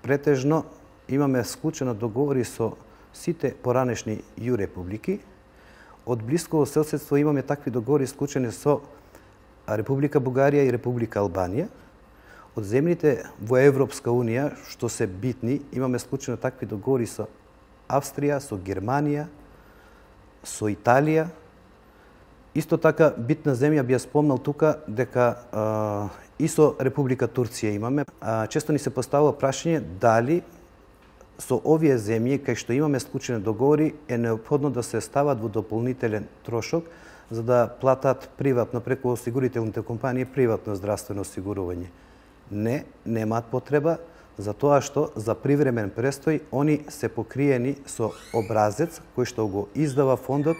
претежно имаме склучено договори со сите поранешни ју републики. Од блисково соседство имаме такви договори склучени со Република Бугарија и Република Албанија. Од земјите во Европска Унија, што се битни, имаме склучено такви договори со Австрија, со Германија, со Италија. Исто така, битна земја би ја спомнал тука дека и со Република Турција имаме. Често ни се поставува прашање дали со овие земји, кај што имаме склучени договори, е неопходно да се стават во дополнителен трошок, за да платат приватно, преку осигурителните компании, приватно здравствено осигурување. Не, немаат потреба, затоа што за привремен престој они се покриени со образец кој што го издава фондот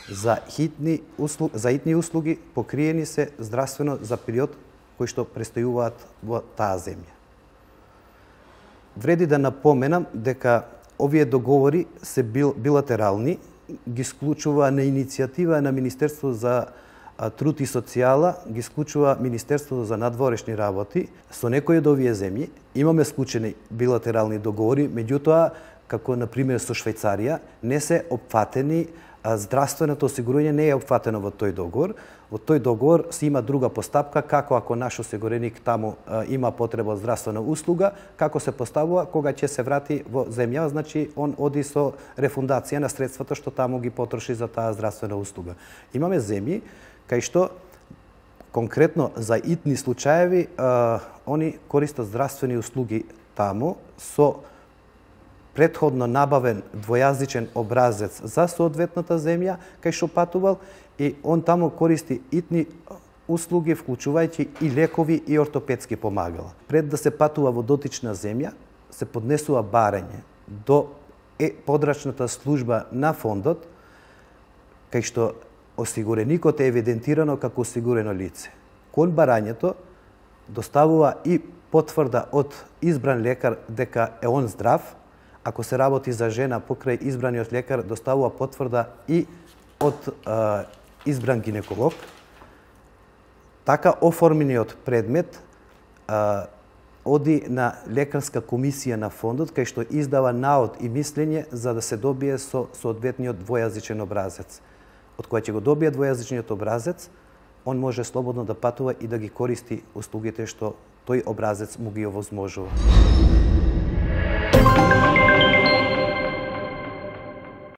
за хитни услуги, покриени се здравствено за период кој што престојуваат во таа земја. Вреди да напоменам дека овие договори се билатерални, ги склучува на иницијатива на Министерството за труд и социјала, ги склучува Министерството за надворешни работи. Со некои од овие земји имаме склучени билатерални договори, меѓутоа, како на пример со Швајцарија, не се опфатени, здравственото осигурување не е опфатено во тој договор. Во тој договор се има друга постапка, како ако наш осигуреник таму има потреба од здравствена услуга, како се поставува кога ќе се врати во земја, значи он оди со рефундација на средствата што таму ги потроши за таа здравствена услуга. Имаме земји кај што конкретно за итни случаеви они користат здравствени услуги таму со претходно набавен двојазичен образец за соодветната земја кај што патувал и он таму користи итни услуги, вклучувајќи и лекови и ортопедски помагала. Пред да се патува во дотична земја, се поднесува барање до подрачната служба на фондот, кај што осигуреникот е евидентирано како осигурено лице. Кон барањето доставува и потврда од избран лекар дека е он здрав. Ако се работи за жена, покрај избраниот лекар доставува потврда и од избран гинеколог. Така оформениот предмет оди на лекарска комисија на фондот, кај што издава наод и мислење за да се добие со соодветниот двојазичен образец. Од кој ќе го добие двојазичниот образец, он може слободно да патува и да ги користи услугите што тој образец му ги овозможува.